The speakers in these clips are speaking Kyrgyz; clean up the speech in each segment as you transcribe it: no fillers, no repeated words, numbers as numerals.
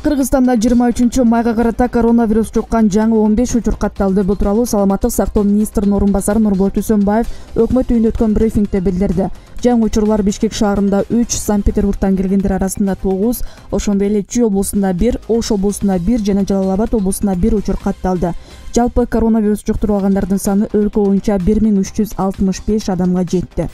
Кыргызстанда 23 майга карата коронавирус жуккан жаңы 15 учур катталды. Бул тууралуу Саламаттык сактоо министринин орун басары Нурболот Үсөнбаев өкмөт үйүндө өткөн брифингде билдирди. Жаңы учурлар Бишкек шаарында 3, Санкт-Петербургтан келгендер арасында 9, ошондой эле Чүй облусунда 1, Ош облусунда 1 жана Жалал Абад облусунда 1 учур катталды. Жалпы коронавирус жуктуруп алгандардын саны өлкө боюнча 1365 адамга жетти.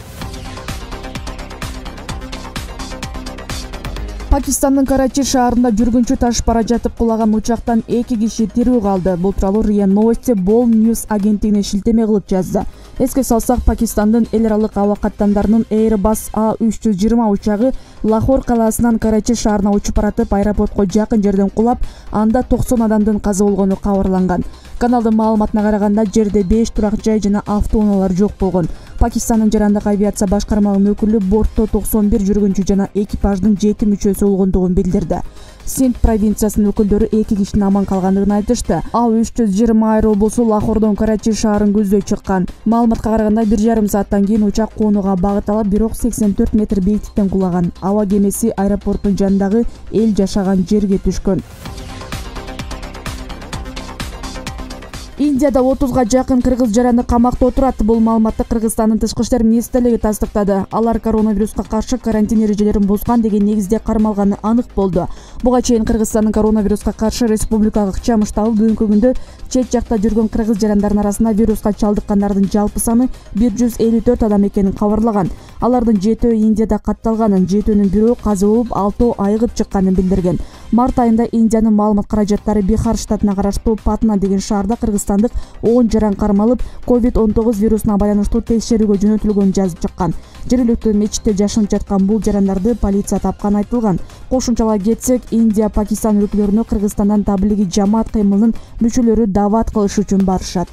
Пакистандын Карачи шаарында жүргүнчү ташып бара жатып кулаган учактан 2 киши тирүү калды. Бул тууралуу РИА Новости Бол Ньюс агенттигине шилтеме кылып жазды. Эске салсак, Пакистандын эл аралык аба каттамдарынын Airbus A320 учагы Лахор калаасынан Карачи шаарына учуп баратып, аэропортко жакын жерден кулап, анда 90 адамдын каза болгону кабарланган. Каналдын маалыматына караганда, жерде 5 турак жай жана автоунаалар жок болгон. Пакистандын жарандык авиация башкармалыгынын өкүлү бортто 91 жүргүнчү жана экипаждын 7 мүчөсү болгондугун билдирди. Синд провинциясынын өкүлдөрү 2 кишинин аман калгандыгын айтышты. A320 аэробусу Лахордон Карачи шаарын көздөй чыккан. Маалыматка караганда 1,5 сааттан кийин учак коонуга багыт алып, бирок 84 метр бийиктиктен кулаган. Аба кемеси аэропорттун жанындагы эл жашаган жерге түшкөн. Индияда 30га жакын кыргыз жараны камакта отурат. Бул маалыматты Кыргызстандын Тышкы иштер министрлиги тастыктады. Алар коронавируска каршы карантин эрежелерин бузган деген негизде кармалганы анык болду. Буга чейин Кыргызстандын коронавируска каршы республикалык чам штабы бүгүнкү күндө чет жакта жүргөн кыргыз жарандардын арасында вируска чалдыккандардын жалпы саны 154 адам экенин кабарлаган. Алардын 7-өө Индияда катталганын, 7-өнүн бирөө каза болуп, 6-өө айыгып чыкканын билдирген. Март айында Индиянын маалымат каражаттары Бихар штатына караштуу Патна деген шаарда кыргызстандык 10 жаран кармалып, COVID-19 вирусуна байланыштуу текшерүүгө жөнөтүлгөнүн жазып чыккан. Жергиликтүү мечитте жашынып жаткан бул жарандарды полиция тапканы айтылган. Кошумчалап кетсек, Индия, Пакистан өлкөлөрүнө Кыргызстандан таблиги жамаат кыймылынын мүчөлөрү дават кылыш үчүн барышат.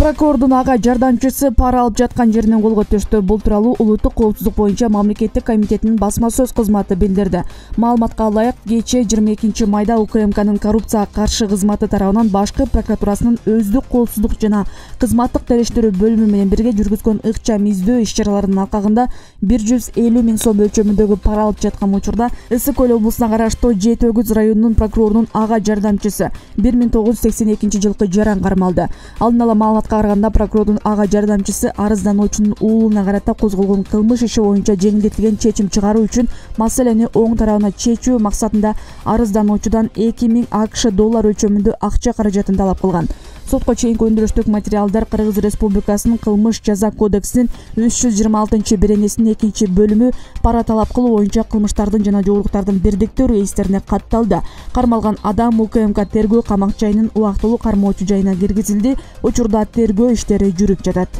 Прокурордун ага жардамчысы пара алып жаткан жеринен колго түштү. Бул тууралуу Улуттук коопсуздук боюнча мамлекеттик комитетинин басма сөз кызматы билдирди. Маалыматка ылайык, кечээ 22 майда УКМКнын коррупцияга каршы кызматы тарабынан Башкы прокуратурасынын өздүк коопсуздук жана кызматтык териштирүү бөлүмү менен бирге жүргүзгөн ыкчам издөө иш-чараларынын алкагында 150 миң сом өлчөмүндөгү пара алып жаткан учурда Ысык Көл облусуна караштуу Жети Өгүз районунун прокурорунун ага жардамчысы 1982 жылкы жаран кармалды. Алдын ала маалыматка караганда, прокурордун ага жардамчысы арыздануучунун уулуна карата козголгон кылмыш иши боюнча жеңилдетилген чечим чыгаруу үчүн маселени оң тарабына чечүү максатында арыздануучудан 2000 АКШ доллар өлчөмүндө акча каражатын талап кылган. Сотко чейинки өндүрүштүк материалдар Кыргыз Республикасынын кылмыш жаза кодексинин 326-беренесинин 2-бөлүмү пара талап кылуу боюнча кылмыштардын жана жоолуктардын бирдиктүү реестрине катталды. Кармалган адам УКМК тергөө камак жайынын убактылуу кармоочу жайына киргизилди. Учурда тергөө иштери жүрүп жатат.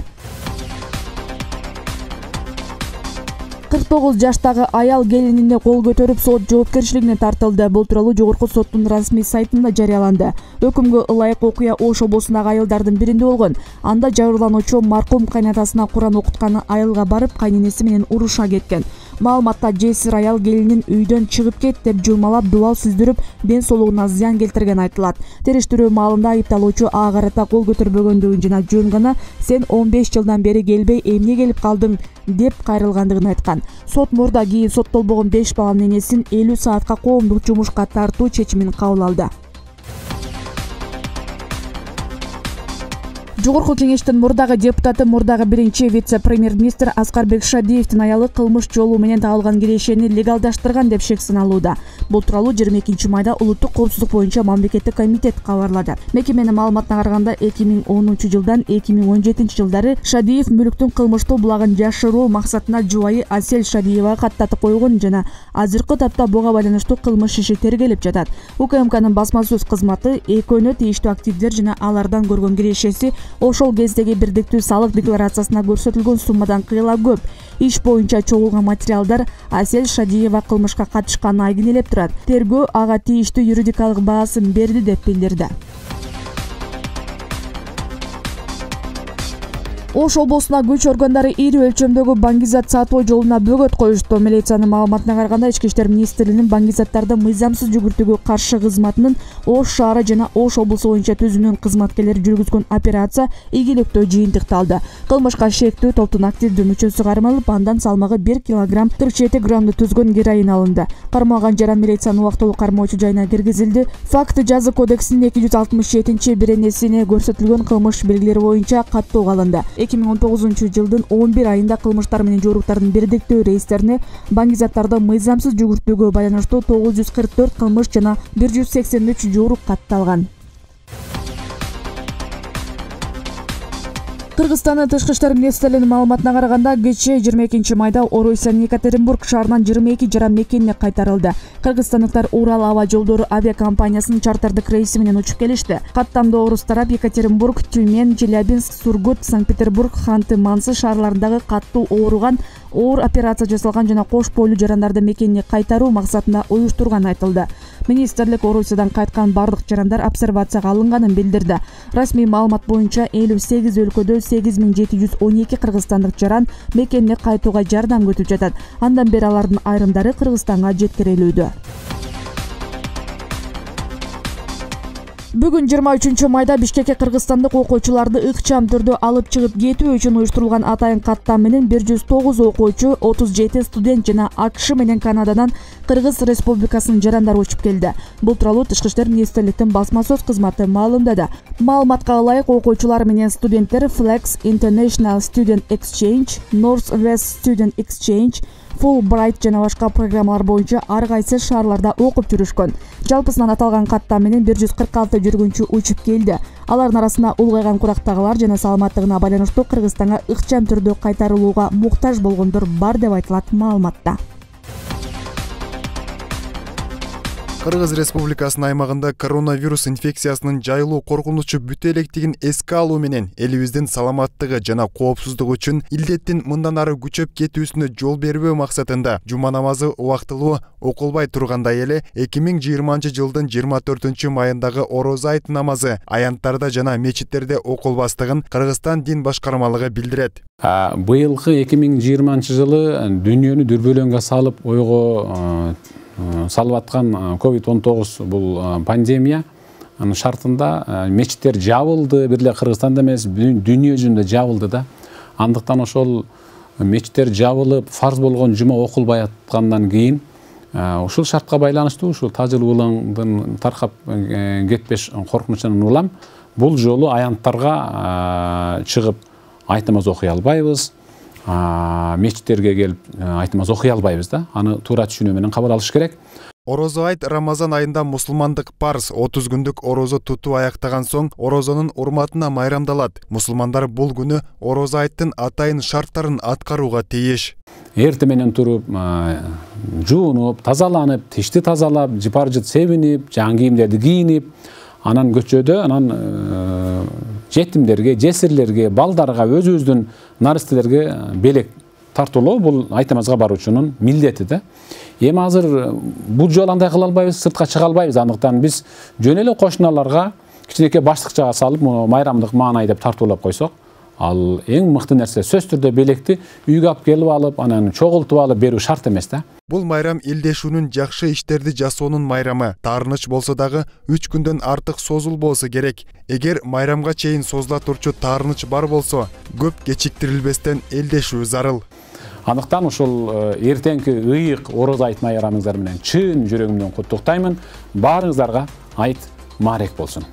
49 жаштагы аял келинине кол көтөрүп сот жоопкерчилигине тартылды. Бул тууралуу жогорку соттун расмий сайтында жарыяланды. Өкүмгө ылайык окуя Ош облусундагы айылдардын биринде болгон. Анда жабырлануучу маркум кайнатасына Куран окутканы айылга барып, кайненеси менен уруша кеткен. Маалыматта жесир аял келинин үйдөн чыгып кет деп жылмалап, дубал сүздүрүп, ден соолугуна зыян келтирген айтылат. Териштирүү маалында айыпталуучу ага карата кол көтөрбөгөндүгүн жана жөн гана "Сен 15 жылдан бери келбей, эмне келип калдың?" деп кайрылгандыгын айткан. Сот мурда кийин соттолбогон 5 баланын энесин 50 саатка коомдук жумушка тартуу чечимин кабыл алды. Жогорку кеңештин мурдагы депутаты, мурдагы биринчи вице-премьер-министр Аскарбек Шадиевдин аялы кылмыш жолу менен табылган кирешени легалдаштырган деп шек саналууда. Бул тууралуу 22 майда Улуттук коопсуздук боюнча мамлекеттик комитет кабарлады. Мекеменин маалыматына караганда, 2010 жылдан 2017 жылдары Шадиев мүлктүн кылмыштуу булагын жашыруу максатына жубайы Асель Шадиевага каттатып койгон жана азыркы тапта буга байланыштуу кылмыш иши тергелип жатат. УКМКнын басма сөз кызматы экөөнө тийиштүү активдер жана алардан көргөн кирешеси ошол кездеги бирдиктүү салык декларациясына көрсөтүлгөн суммадан кыйла көп. Иш боюнча чогулган материалдар Асель Шадиева кылмышка катышканын айгинелеп турат. Тергөө ага тийиштүү юридикалык баасын берди деп билдирди. Ош облусуна күч органдары ири өлчөмдөгү баңгизат сатуу жолуна бөгөт коюшту. Милициянын маалыматына караганда, Ички иштер министрлигинин баңгизаттарды мыйзамсыз жүгүртүүгө каршы кызматынын Ош шаары жана Ош облусу боюнча түзүмүнүн кызматкерлери жүргүзгөн операция ийгиликтүү жыйынтыкталды. Кылмышка шектүү топтун активдүү мүчөсү кармалып, андан салмагы 1 кг 47 граммды түзгөн героин алынды. Кармалган жаран милициянын убактылуу кармоочу жайына киргизилди. Факт жаза кодексинин 267-беренесине көрсөтүлгөн кылмыш белгилери боюнча каттоого алынды. 2019-жылдын 11 айында кылмыштар менен жоруктардын бирдиктүү рейстерине баңгизаттарды мыйзамсыз жүгүртүүгө байланыштуу 944 кылмыш жана 183 жорук катталган. Кыргызстандын тышкы иштер министрлигинин маалыматына караганда, кечээ 22 майда Орусиянын Екатеринбург шаарынан 22 жаран мекенине кайтарылды. Кыргызстандыктар Урал аба жолдору авиакомпаниясынын чартердик рейси менен учуп келишти. Каттамда орус тарап Екатеринбург, Тюмень, Челябинск, Сургут, Санкт-Петербург, Ханты-Мансый шаарларындагы каттуу ооруган оор операция жасалган жана кош бойлуу жарандарды мекенине кайтаруу максатында уюштурган айтылды. Министрлик Орусиядан кайткан бардык жарандар обсервацияга алынганын билдирди. Расмий маалымат боюнча 58 өлкөдө 8712 кыргызстандык жаран мекенине кайтууга жардам күтүп жатат. Андан бери алардын айрымдары Кыргызстанга жеткирилүүдө. Бүгүн 23 майда Бишкекке кыргызстандык окуучуларды ыкчам түрдө алып чыгып кетүү үчүн уюштурулган атайын каттам менен 109 окуучу, 37 студент жана АКШ менен Канададан Кыргыз Республикасынын жарандары учуп келди. Бул тууралуу Тышкы иштер министрликтин басма сөз кызматы маалымдады. Маалыматка ылайык, окуучулар менен студенттер Flex International Student Exchange, North-West Student Exchange, Fulbright жана башка программалар боюнча ар кайсы шаарларда окуп жүрүшкөн. Жалпысынан аталган каттам менен 146 жүргүнчү учуп келди. Алардын арасында улгайган курактагылар жана саламаттыгына байланыштуу Кыргызстанга ыкчам түрдө кайтарылууга муктаж болгондор бар деп айтылат маалыматта. Кыргыз Республикасынын аймагында коронавирус инфекциясынын жайылуу коркунучу бүтө электигин эске алуу менен элибиздин саламаттыгы жана коопсуздугу үчүн илдеттин мындан ары күчөп кетүүсүнө жол бербөө максатында жума намазы убактылуу окулбай тургандай эле 2020-жылдын 24 майындагы Орозо айт намазы аянттарда жана мечиттерде окулбастыгын Кыргызстан дин башкармалыгы билдирет. Быйылкы 2020-жылы дүйнөнү дүрбөлөңгө салып ойго салып аткан COVID-19 бул пандемия шартында мечиттер жабылды, бир эле Кыргызстанда эмес, дүйнө жүзүндө жабылды да. Андыктан ошол мечиттер жабылып, фарз болгон жума окулбай аткандан кийин ушул шартка байланыштуу ушул тажыл улаңдын таркап кетпеш коркунучунан улам бул жолу аянттарга чыгып айт намаз окуй албайбыз. Мечиттерге келип айт намаз окуй албайбыз да. Аны туура түшүнүү менен кабыл алыш керек. Орозо айт Рамазан айында мусулмандык парз 30 күндүк орозо тутуу аяктаган соң орозонун урматына майрамдалат. Мусулмандар бул күнү орозо айттын атайын шарттарын аткарууга тийиш. Эрте менен туруп, жуунуп, тазаланып, тишти тазалап, жыпар-жыт себинип, жаңы кийимдерди кийинип, анан көчөдө, анан жетимдерге, жесирлерге, балдарга, өзүбүздүн наристелерге белек тартуулоо бул айт намазга баруучунун милдети да. Эми азыр бул жолу андай кыла албайбыз, сыртка чыга албайбыз. Андыктан биз жөн эле кошуналарга кичинекей баштыкчага салып, майрамдык маанай деп тартуулап койсок, ал эң мыкты нерсе. Сөзсүз түрдө белекти үйгө алып келип алып, анан чогултуп алып берүү шарт эмес да. Бул майрам элдешүүнүн жакшы иштерди жасоонун майрамы. Таарыныч болсо дагы 3 күндөн артык созулбосу керек. Эгер майрамга чейин созула турчу таарыныч бар болсо, көп кечиктирилбестен элдешүү зарыл. Андыктан ушул эртеңки ыйык орозо айт майрамыңыздар менен чын жүрөгүмдөн куттуктаймын. Баарыңыздарга айт маарек болсун.